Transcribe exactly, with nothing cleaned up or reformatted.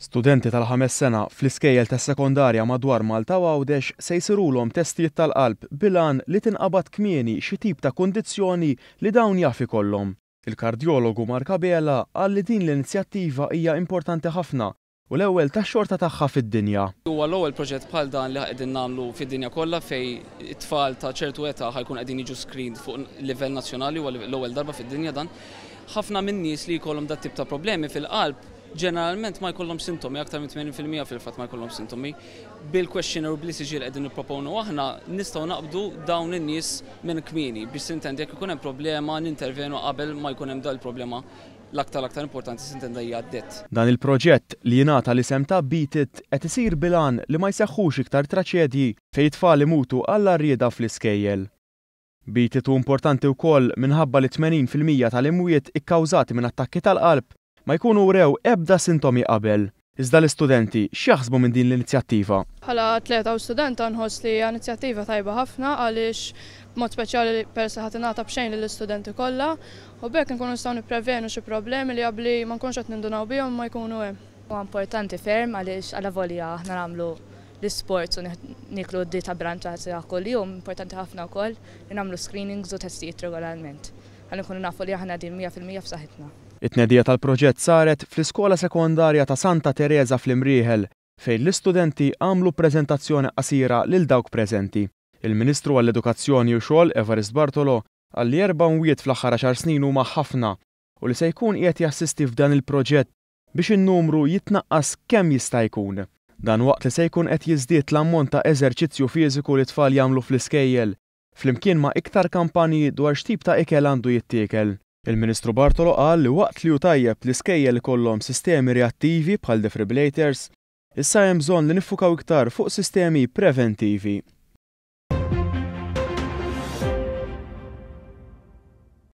Studenti tal-ħames sena fl-iskejjel tas-sekondarja madwar Malta u Għawdex se jsirulhom testijiet tal-qalb bil-għan li tinqabad kmieni xi tip ta' kundizzjoni li dawn jaf ikollhom. Il-kardjologu Mark Abela qal li din l-inizjattiva hija importanti ħafna u l-ewwel tax-xorta tagħha fid-dinja. Huwa l-ewwel proġett bħal dan li qegħdin nagħmlu fid-dinja kollha fejn it-tfal ta' ċertu età ħa jkun qegħdin jiġu screened fuq livell nazzjonali, huwa l-ewwel darba fid-dinja dan. Ħafna minn nies li jkollhom dat tip ta' problemi fil-qalb ġeneralment ma jkollhom sintomi, aktar minn tmenin fil-mija fil-fatt ma jkollhom sintomi. Bil-questionnaire u bl-E C G li qegħdin nipproponu aħna nistgħu naqbdu dawn in-nies minn kmieni biex s'intendi jekk ikun hemm problema nintervenu qabel ma jkun hemm dal-problema. L-aktar l-aktar importanti s'intenda hija d-det. Dan il-proġett li jingħata l-isem ta' Beat It qed isir bil-għan li ma jseħħux iktar traċedji fejn tfal imutu għall-għarrieda fl-iskejjel. Beat It hu importanti wkoll minħabba li tmenin fil-mija tal-imwiet ikkawżati minn attakki tal-qalb ma jkunu wrew ebda sintomi qabel. Iżda l-istudenti x'jaħsbu minn din l-inizjattiva? Bħala atleta u studenta nħoss li hija inizjattiva tajba ħafna għaliex b'mod speċjali peress li ħa tingħata b'xejn lill-istudenti kollha u b'hekk nkunu nistgħu nipprevenu xi problemi li qabli ma nkunux qed nindunaw bihom ma jkunu hemm. Huwa importanti ferm għaliex għalavolja aħna nagħmlu l-sports u nieklu dieta bilanċata kuljum, importanti ħafna wkoll li nagħmlu screenings u testijiet regolarment, ħalli nkunu nafu li aħna din mija fil-mija f'saħħitna. It-tnedija tal-proġett saret fl-Iskola Sekondarja ta' Santa Teresa fl-Imrieħel, fejn l-istudenti għamlu preżentazzjoni qasira lil dawk preżenti. Il-Ministru għall-Edukazzjoni u Xogħol Evarist Bartolo qal li erba' mwiet fl-aħħar għaxar snin huma ħafna u li se jkun qiegħed jassisti f'dan il-proġett biex in-numru jitnaqqas kemm jista' jkun. Dan waqt li se jkun qed jiżdied l-ammont ta' eżerċizzju fiżiku li tfal jagħmlu fl-iskejjel, flimkien ma' iktar kampanji dwar x'tip ta' ikel għandu jittiekel. Il-Ministru Bartolo qal li waqt li hu tajjeb li skejjel ikollhom sistemi reattivi bħal defibrillators, issa hemm bżonn li niffukaw iktar fuq sistemi preventivi.